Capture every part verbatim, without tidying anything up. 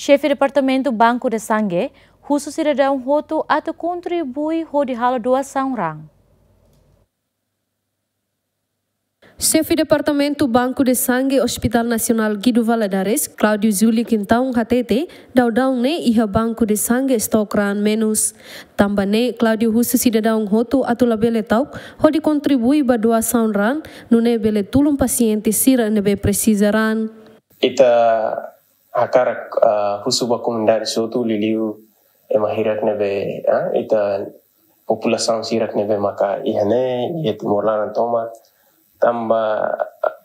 Xefe Departamentu Banco de Sangue husu sidadaun hotu atu kontribui hodi halo doasaun raan. Xefe Departamentu Banco de Sangue Hospital Nasionál Guido Valadares, Claudio Júlio Quintão hatete, daudaun ne'e iha Banco de Sangue estok raan menus. Tanba ne'e, Claudio husu sidadaun hotu atu labele ta'uk hodi kontribui ba doasaun raan, nune'e bele tulun pasiente sira ne'ebé presiza raan. Ita hakarak, ah, husu ba komunidade hotu, liuliu ema hirak ne'ebé, ah, ita populasaun sira ne'ebé maka iha ne'e, iha Timor laran tomak. Tanba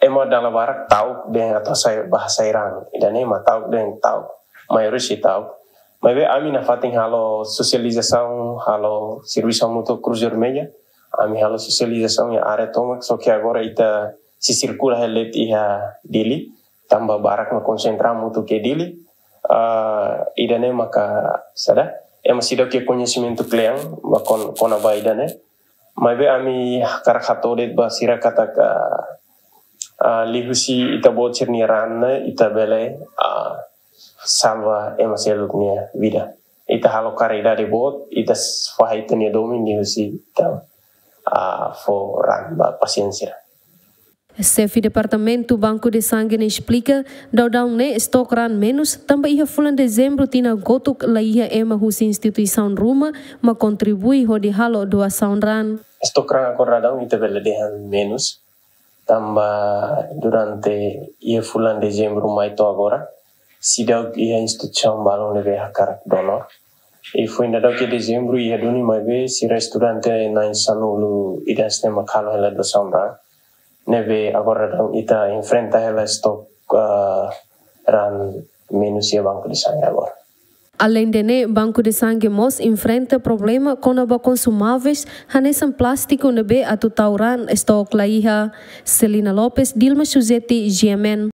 ema dala barak ta'uk dehan atu hasai, bá hasai raan. Ida-ne'e mak ta'uk dehan ta'uk. Maioria sei ta'uk. Maibé ami nafatin halo sosializasaun, halo servisu hamutuk Cruz Vermelha. Ami halo sosializasaun iha área tomak, só ke agora ita sei sirkula hela de'it iha Dili. Tanba barak mak konsentra hamutuk iha Dili. Ah, ida-ne'e maka saida, ema seidauk iha koñesimentu kle'an ba kon-, kona-ba ida-ne'e. Maibé ami hakarak hato'o de'it ba sira katak, ah, liuhusi ita-boot sira-nia raan ne'e ita bele, ah, salva ema seluk nia vida. Ita halo karidade boot, ita s-, fahe ita-nia domin liuhusi ita, ah, fó raan ba pasiente sira. Xefe Departamentu Banco de Sangue ne'e esplika, daudaun ne'e estok raan menus, tanba iha fulan Dezembru tinan kotuk la iha ema husi instituisaun ruma mak kontribui hodi halo doasaun raan. Estok raan agora daudaun ita bele dehan menus, tanba durante iha fulan Dezembru mai to'o agora, seidauk iha instituisaun balun ne'ebé hakarak donor. I foin daudauk iha Dezembru iha duni maibé sira estudante na'in sanulu ida hanesan ne'e mak halo hela doasaun raan. Ne'ebé agora daudaun ita enfrenta hela estok, ah, raan menus iha Banco de Sangue agora. Aleinde ne'e, Banco de Sangue mós enfrenta problema kona-ba konsumáveis, hanesan plástiku ne'ebé atu tau raan estok la iha. Celina Lopes, Dilma Suzeti, G M N.